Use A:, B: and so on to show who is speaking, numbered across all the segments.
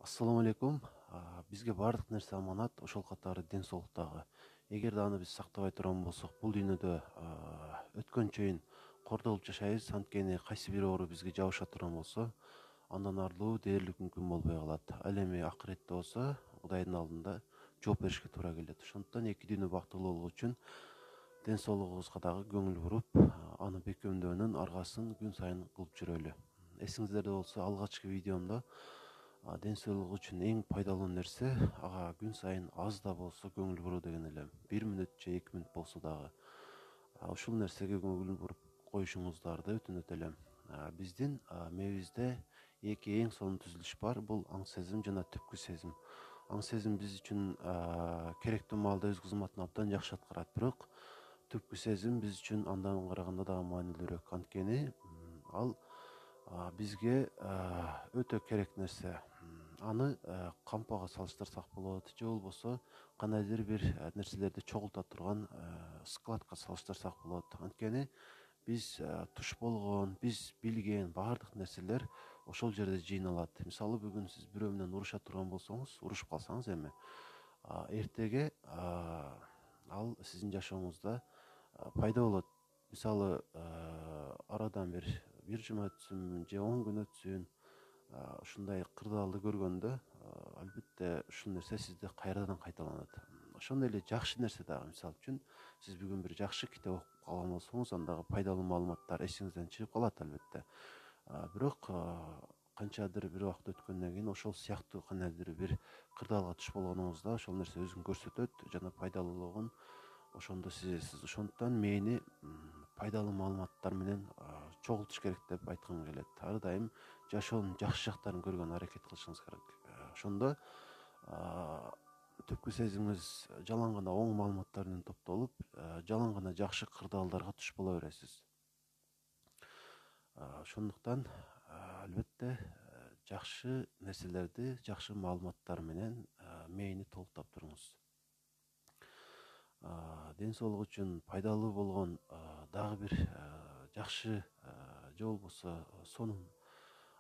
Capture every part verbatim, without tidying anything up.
A: Ассаламу алейкум. А, Бизге бардык нерсе аманат, ошол катары ден соолук дагы. Эгерде аны биз сактабай турган болсок, бул дүйнөдө а, өткөн чейин кордолуп жашайбыз. Анткени кайсы бир оору бизге жабыша турган болсо, андан арылуу дээрлик мүмкүн болбой калат. Ал эми акыретте болсо, Кудайдын алдында жооп беришке туура келет. Ошондуктан эки дүйнө бактылуу болуу үчүн ден соолугубузга дагы көңүл буруп, а, аны бекемдөөнүн аргасын күн сайын кылып жүрөлү. Эсиңиздерде болсо, алгачкы видеомдо а, ден соолук үчүн эң пайдалуу нерсе ага күн сайын аз да болсо көңүл буруу деген элем. Бир мүнөт же эки мүнөт болсо дагы а, ушул нерсеге көңүл буруп коюшуңуздарды өтүнөт элем. А, Биздин а, мээбизде эки эң сонун түзүлүш бар. Бул аң сезим жана түпкү сезим. Аң сезим биз үчүн а, керектүү маалда өз кызматын абдан жакшы аткарат, бирок түпкү сезим биз үчүн андан караганда дагы маанилүүрөөк. Анткени м, ал а, бизге а, өтө керек нерсе. М, Аны а, кампага салыштырсак болот, же болбосо кандайдыр бир а, нерселерди чогулта турган а, складка салыштырсак болот. Анткени биз а, туш болгон, биз билген баардык нерселер ошол жерде жыйналат. Мисалы, бүгүн сиз бирөө менен уруша турган болсоңуз, урушуп калсаңыз эми, а, эртеге а, ал сиздин жашооңузда а, пайда болот. Мисалы, а, арадан бир бир жума өтсүн же он күн өтсүн, а, ушундай кырдаалды көргөндө а, албетте ушул нерсе сизде кайрадан кайталанат. Ошондой эле жакшы нерсе дагы, мисалы үчүн сиз бүгүн бир жакшы китеп окуп калган болсоңуз, андагы пайдалуу маалыматтар эсиңизден чыгып калат албетте. А, бирок а, канчадыр бир убакыт өткөндөн кийин ошол сыяктуу кандайдыр бир кырдаалга туш болгонуңузда ошол нерсе өзүн көрсөтөт жана пайдалуулугун ошондо сезесиз. Ошондуктан мээни м, пайдалуу маалыматтар менен а, чогултуш керек деп айткым келет. Ар дайым жашоонун жакшы жактарын көргөнгө аракет кылышыңыз керек. А, Ошондо а, түпкү сезимиңиз жалаң гана оң маалыматтар менен топтолуп, а, жалаң гана жакшы кырдаалдарга туш боло бересиз. А, Ошондуктан а, албетте а, жакшы нерселерди жакшы маалыматтар менен а, мээни толуктап туруңуз. А, Ден соолук үчүн пайдалуу болгон а, дагы бир а, жакшы а, же болбосо сонун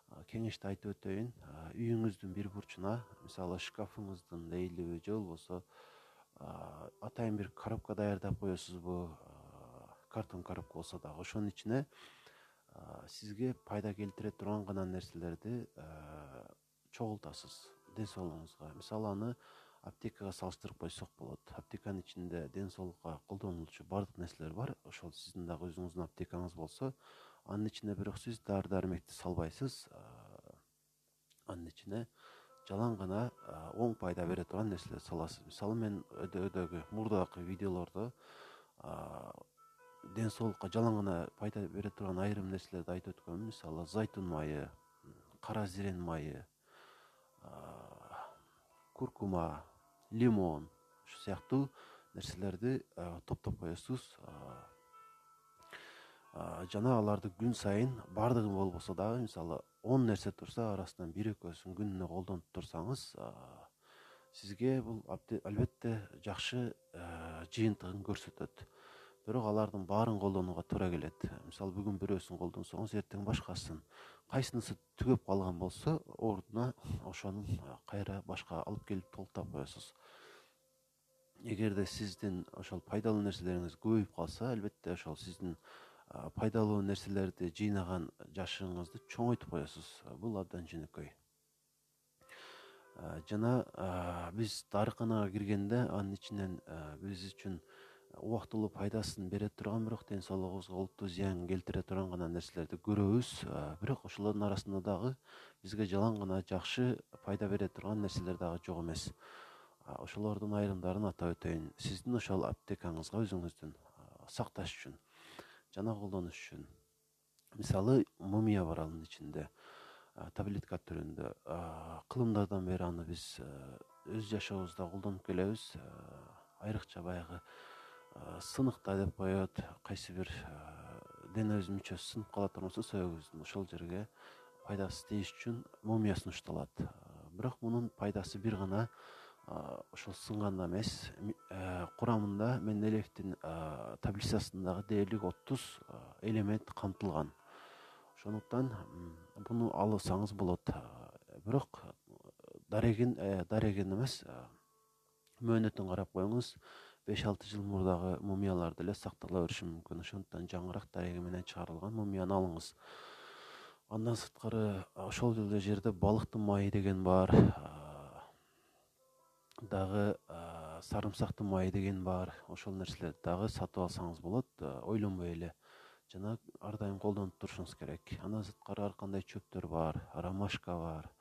A: а, кеңешти айтып өтөйүн. А, Үйүңүздүн бир бурчуна, мисалы шкафыңыздын ээлиби же болбосо а, атайын бир коробка даярдап коесузбу, а, картон коробка болсо дагы ошонун ичине а, сизге пайда келтире турган гана нерселерди а, чогултасыз ден соолугуңузга. Мисалы, аны аптекага салыштырып койсок болот. Аптеканын ичинде ден соолукка колдонулчу баардык нерселер бар. Ошол сиздин дагы өзүңүздүн аптекаңыз болсо, анын ичине бирок сиз дары дармекти салбайсыз. а, Анын ичине жалаң гана а, оң пайда бере турган нерселерди саласыз. Мисалы, мен өйдөгү мурдагы видеолордо а, ден соолукка жалаң гана пайда бере турган айрым нерселерди айтып өткөмүн. Мисалы, зайтун майы, кара зирен майы, а, куркума, лимон, ушул сыяктуу нерселерди а, топтоп коесуз. а, а, Жана аларды күн сайын баардыгын болбосо дагы, мисалы, он нерсе турса, арасынан бир экөөсүн күнүнө колдонуп турсаңыз, а, сизге бул албетте жакшы а, жыйынтыгын көрсөтөт. Бирок алардын баарын колдонууга туура келет. Мисалы, бүгүн бирөөсүн колдонсоңуз, эртең башкасын. Кайсынысы түгөп калган болсо, ордуна ошонун а, кайра башка алып келип толуктап коесуз. Эгерде сиздин ошол пайдалуу нерселериңиз көбөйүп калса, албетте ошол сиздин а, пайдалуу нерселерди жыйнаган жашыгыңызды чоңойтуп коесуз. Бул абдан жөнөкөй. А, Жана а, биз дарыканага киргенде, анын ичинен а, биз үчүн убактылуу пайдасын бере турган, бирок ден соолугубузга олуттуу зыян келтире турган гана нерселерди көрөбүз. А, Бирок ошолордун арасында дагы бизге жалаң гана жакшы пайда бере турган нерселер дагы жок эмес. А, Ошолордун айрымдарын атап өтөйүн. Сиздин ошол аптекаңызга өзүңүздүн а, сакташ үчүн жана колдонуш үчүн. Мисалы, мумия бар анын ичинде, а, таблетка түрүндө. А, Кылымдардан бери аны биз а, өз жашообузда колдонуп келебиз. А, Айрыкча баягы а, сыныкта деп коет, кайсы бир а, денебиздин мүчөсү сынып кала турган болсо, сөөгүбүздүн ошол жерге пайдасы тийиш үчүн мумия сунушталат. А, Бирок мунун пайдасы бир гана а, ошол сынганда эмес. Ми- а, Курамында Менделеевдин а, таблицасындагы дээрлик отуз а, элемент камтылган. Ошондуктан м, буну алсаңыз болот. А, Бирок дарегин дарегин эмес, мөөнөтүн карап коюңуз. беш алты жыл мурдагы мумиялар деле сактала бериши мүмкүн. Ошондуктан жаңыраак дареги менен чыгарылган мумияны алыңыз. Андан сырткары ошол эле жерде балыктын майы деген бар, дагы сарымсактын майы деген бар. Ошол нерселерди дагы сатып алсаңыз болот, ойлонбой эле жана ар дайым колдонуп турушуңуз керек. Андан сырткары ар кандай чөптөр бар, ромашка бар,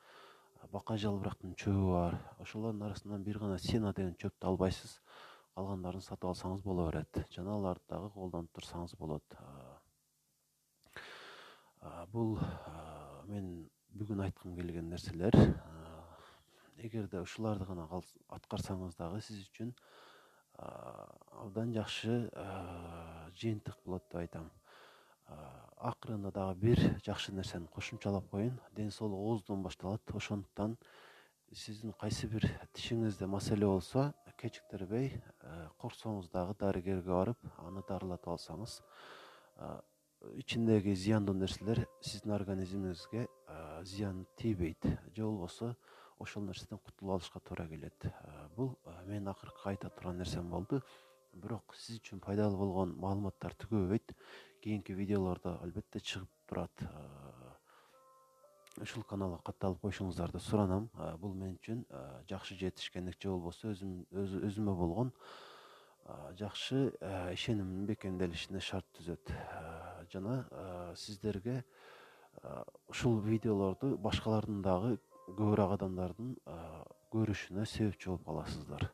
A: бака жалбырактын чөбү бар. Ошолордун арасынан бир гана сена деген чөптү албайсыз, калгандарын сатып алсаңыз боло берет. Жана аларды дагы колдонуп турсаңыз болот. Бул мен бүгүн айткым келген нерселер. Эгерде ушуларды гана аткарсаңыз дагы сиз үчүн абдан жакшы жыйынтык болот деп айтам. Акырында дагы бир жакшы нерсени кошумчалап коеюн. Ден соолук ооздон башталат. Ошондуктан сиздин кайсы бир тишиңизде маселе болсо, кечиктербей корксоңуз дагы дарыгерге барып, аны дарылатып алсаңыз, ичиндеги зыяндуу нерселер сиздин организмиңизге зыян тийбейт. Же болбосо ошол нерседен кутулуп алышка туура келет. Бул мен акыркы айта турган нерсем болду. Бирок сиз үчүн пайдалуу болгон маалыматтар түгөбөйт. Кийинки видеолордо албетте чыгып турат. Ушул каналга катталып коюшуңуздарды суранам. Бул мен үчүн жакшы жетишкендик, же болбосо өзүм өзүмө болгон жакшы ишенимдин бекемделишине шарт түзөт. Жана сиздерге ушул видеолорду башкалардын дагы көбүрөөк адамдардын көрүшүнө себепчи болуп каласыздар.